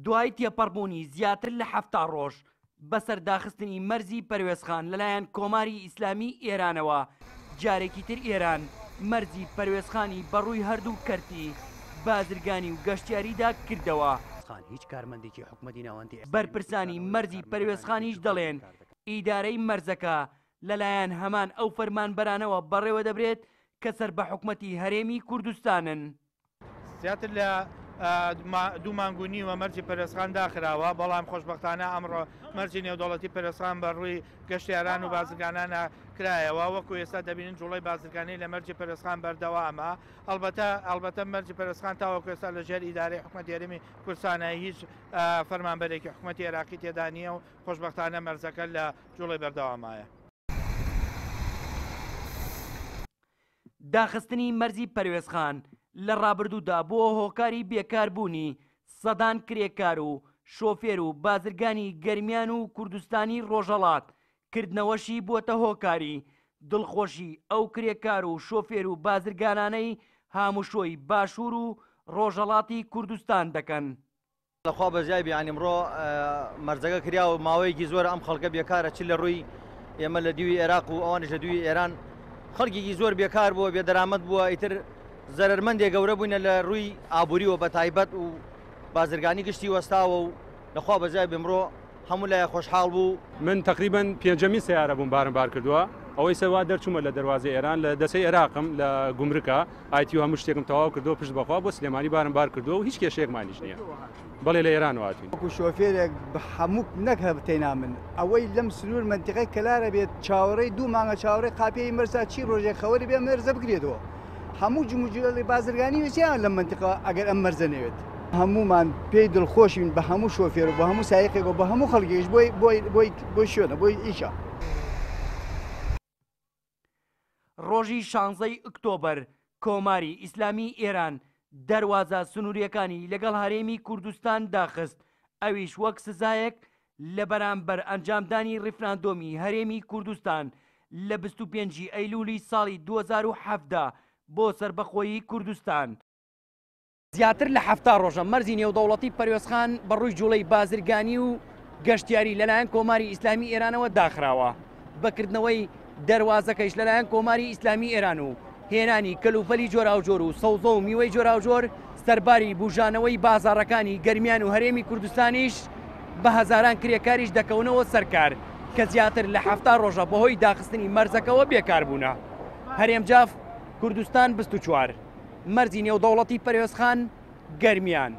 دوای تێپەڕبوونی زیاتر لە 70 ڕۆژ بەسەر داخستنی مەرزی پەروێزخان لەلایەن کۆماری ئیسلامی ئێرانەوە، جارێکی تر ئێران مەرزی پەروێزخانی بەڕووی هەردوو کەرتی بازرگانی و گەشتیاریدا کردەوە. بەرپرسانی مەرزی پەروێزخانیش دەڵێن، ئیدارەی مەرزەکە لەلایەن هەمان ئەو فەرمانبەرانەوە بەڕێوەدەبرێت کە سەر بە حکومەتی هەرێمی کوردستانن. زیاتر لە دوو مانگ و نیوە مەرجی پەرێزخان داخراوە، بەڵام خۆشبەختانە ئەمڕۆ مەرجی نێودەوڵەتی پەرێزخان بە ڕووی گەشتیاران و بازرگانانە کرایەوە، وەکو ئێستا دەبینن جوڵەی بازرگانی لە مەرجی پەرێزخان بەردەوامە، ئەڵبەتە ئەڵبەتە مەرجی پەرێزخان تاوەکو ئێستا لە ژێر ئیدارەی حکومەتی هەرێمی کوردستانە، هیچ فەرمانبەرێکی حکومەتی عێراقی تێدا نییە و خۆشبەختانە مەرزەکە لە جوڵەی بەردەوامایە. داخستنی مەرزی پەروێزخان لە ڕابردوودا بووە هۆکاری بێکاربوونی سەدان کرێکار و شۆفێر و بازرگانی گەرمیان و کوردستانی ڕۆژهەڵات، کردنەوەشی بووەتە هۆکاری دڵخۆشی ئەو کرێکار و شۆفێر و بازرگانانەی هاموشۆی باشوور و ڕۆژهەڵاتی کوردستان دەکەن. لە خوا بەزیای بێ یانی ئەمڕۆ مەرزەکە کرا و ماوەیەکی زۆرە ئەم خەڵکە بێکارە چ لە ڕووی ئێمە لە دیوی عێراق و ئەوانیش لە دووی ئێران خەڵکێکی زۆر بێکار بووە بێدەرامەت بووە ئیتر زەرەرمەندێ گەورە بووینە لە ڕووی ئابووریەوە بە تایبەت و بازرگانی گشتی وەستاوە و لەخوا بەزیای بێ ئەمڕۆ هەموو لایە خۆشحاڵ بوو. من تەقریبەن پێنجەمین سەیارە بووم بارم بار کردووە ئەوەی سەر وا دەرچوومە لە دەروازەی ئێران لە دەسەی ئێراقم لە گومرکە ئایتی و هەموو شتێکم تەواو کردووە پشت بەخوا بۆ سلێمانی بارم بار کردووە و هیچ کێشەیەکمانیش نییە بەڵێ لە ئێرانەوە هاتووین. وەکو شۆفێرێک هەموو نەک هەر تەینا من ئەوەی لەم سنوور مەنتیقەی کەلارە بێت چاوەڕێی دوو مانگە چاوەڕێی قاپیی مەرزە چی ڕۆژێک خەوەری بێ مەرزە بکرێتەوە هەموو جموجوڵی بازرگانی ویسیان لەم مەنتیقە ئەگەر ئەم مەرزە نەوێت. هەموومان پێی دڵخۆشین بە هەموو شۆفێر و بە هەموو سایقێک و بە هەموو خەڵکێکیش بۆی بۆی بۆی بۆی شوێنە بۆی ئیشە. ڕۆژی شانزەی ئۆکتۆبەر کۆماری ئیسلامی ئێران دەروازە سنوورییەکانی لەگەڵ هەرێمی کوردستان داخست، ئەویش وەک سزایەک لە بەرامبەر ئەنجامدانی ڕیفراندۆمی هەرێمی کوردستان لە 25 ی ئەیلولی ساڵی 2017 بۆ سەربەخۆیی کوردستان. زیاتر لە 70 ڕۆژە مەرزی نێودەوڵەتی پەروێزخان بە ڕووی جوڵەی بازرگانی و گەشتیاری لەلایەن کۆماری ئیسلامی ئێرانەوە داخراوە. بە کردنەوەی دەروازەکەیش لەلایەن کۆماری ئیسلامی ئێران و هێنانی کەلوپەلی جۆراوجۆر و سەوزە و میوەی جۆراوجۆر سەرباری بوژانەوەی بازاڕەکانی گەرمیان و هەرێمی کوردستانیش بە هەزاران کرێکاریش دەکەونەوە سەر کار کە زیاتر لە 70 ڕۆژە بەهۆی داخستنی مەرزەکەوە بێکار بوونە. هەرێم جاف، کوردستان 24، مەرزی نێودەوڵەتی پەروێزخان، گەرمیان.